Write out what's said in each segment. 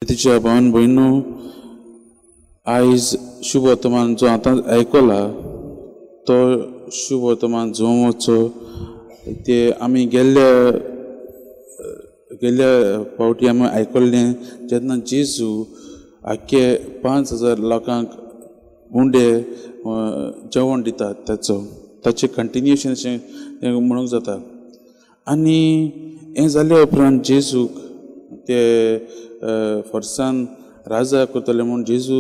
तिच्या भावन भयणो, आयज शुभ वर्तमान जो आतां आयकला तो शुभ वर्तमान जोवचो ते आमी गेल्ल्या गेल्ल्या फावटी आमी आयकल्लें जेन्ना जेजू आख्खे 5000 लोकांक उंडे जेवण दितात ताचो ताचें कंटिन्युएशन अशें म्हणूंक जाता. आनी हें जाल्या उपरांत जेजूक ते फोर्सान राजा करतले म्हूण जेजू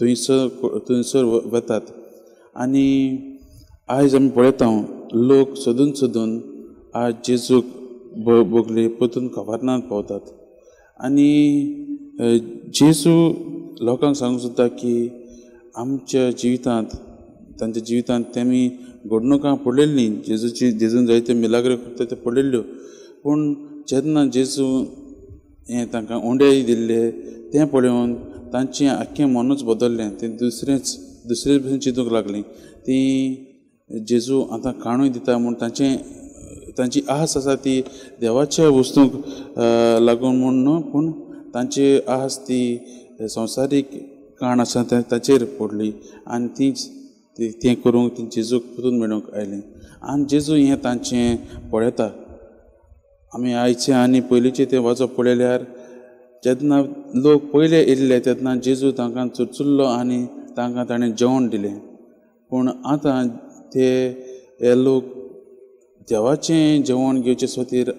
थंयसर वतात. आनी आयज आमी पळयता लोक सोदून सोदून आज जेजूक बगले परतून कफर्नांत पावतात. आनी जेजू लोकांक सांगूंक सोदता की आमच्या जिवितांत तांच्या जिवितांत तेमी घडणुकां पळयल्लीं, जेजूची जेजून जायते मिलाग्र करता त्यो पळयल्ल्यो, पूण जेन्ना जेजू हें तांकां उंडे दिल्ले तें पळोवन तांचें आख्खें मनूच बदल्लें. तें दुसरे भशेन चिंतूंक लागलीं. तीं जेजू आतां काणूय दिता म्हूण तांचें तांची आस आसा ती देवाच्या वस्तूंक लागून म्हूण न्हू, पूण तांची आस ती संवसारीक काण आसा ताचेर पडली आनी तीच तें करूंक ती जेजूक परतून मेळूंक आयलीं. आनी जेजू हें तांचें पळयता. आमी आयचें आनी पयलींचें तें वाचप पळयल्यार जेन्ना लोक पयले येयल्ले तेन्ना जेजू तांकां चुरचुरलो आनी तांकां ताणें जेवण दिलें. पूण आतां ते हे लोक देवाचें जेवण घेवचे खातीर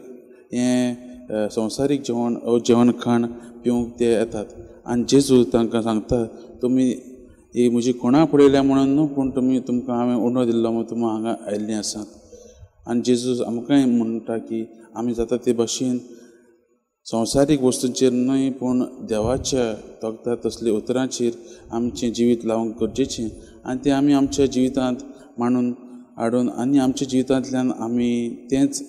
हें संवसारीक जेवण जेवण खाण पिवंक ते येतात. आनी जेजू तांकां सांगता, तुमी ही म्हजी कोणा पळयल्या म्हणून न्हू, पूण तुमी तुमकां हांवें उंडो दिल्लो म्हूण तुमी हांगा आयिल्लीं आसात. आनी जेजू आमकांय म्हणटा की आमी जाता ते भशेन संवसारीक वस्तूंचेर न्हय, पूण देवाच्या तोखता तसल्या उतरांचेर आमचें जिवीत लावंक गरजेचें आनी तें आमी आमच्या जिवितांत मांडून हाडून आनी आमच्या जिवितांतल्यान आमी तेंच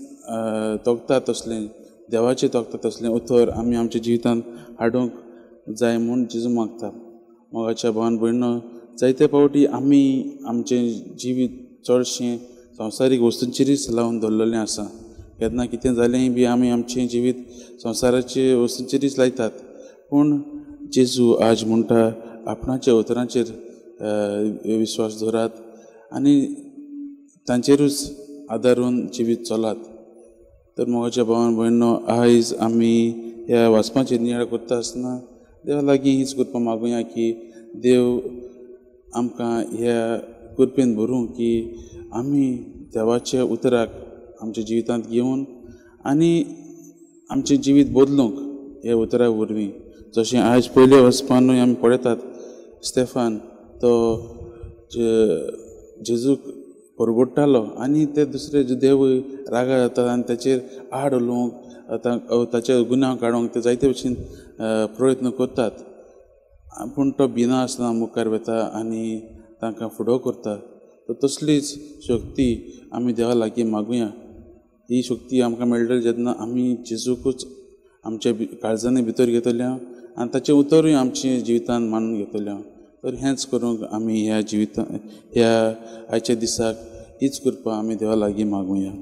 तोखता तसलें देवाचें तोखता तसलें उतर आमी आमच्या जिवितांत हाडूंक जाय म्हूण जेजू मागता. मोगाच्या भावान भयणो, जायते फावटी आमी आमचें जिवीत चडशें संवसारीक वस्तूंचेरूच लावन दवरलेलें आसा. केन्ना कितें जालें बी आमी आमचें जिवीत संवसाराचे वस्तूंचेरूच लायतात. पूण जेजू आज म्हणटा आपणाच्या उतरांचेर विश्वास दवरात आनी तांचेरूच आदारून जिवीत चलात. तर मोगाच्या भावान भयणो, आयज आमी ह्या वाचपाचेर नियाळ करता आसतना देवा लागीं हीच कृपा मागुया की देव आमकां ह्या कृपेन भरूं की आमी देवाच्या उतराक आमच्या जिवितांत घेवन आनी आमचें जिवीत बदलूंक ह्या उतरा वरवीं. जशें आयज पयले वचपानूय आमी पळयतात स्टेफान तो जेजूक परगोडटालो आनी ते दुसरे देवूय रागा जातात आनी ताचेर आड उलोवंक ताचे गुन्यांव काडूंक ते जायते भशेन प्रयत्न करतात, पूण तो भिना आसतना मुखार वता आनी तांकां फुडो करता. तर तसलीच शक्ती आमी देवा लागीं मागुया. ही शक्ती आमकां मेळटली जेन्ना आमी जेजूकूच आमच्या काळजांनी भितर घेतल्या आनी ताचें उतरूय आमच्या जिवितांत मानून घेतल्या. तर हेंच करूंक आमी ह्या जिविता ह्या आयच्या दिसाक हीच कृपा आमी देवा लागीं मागुया.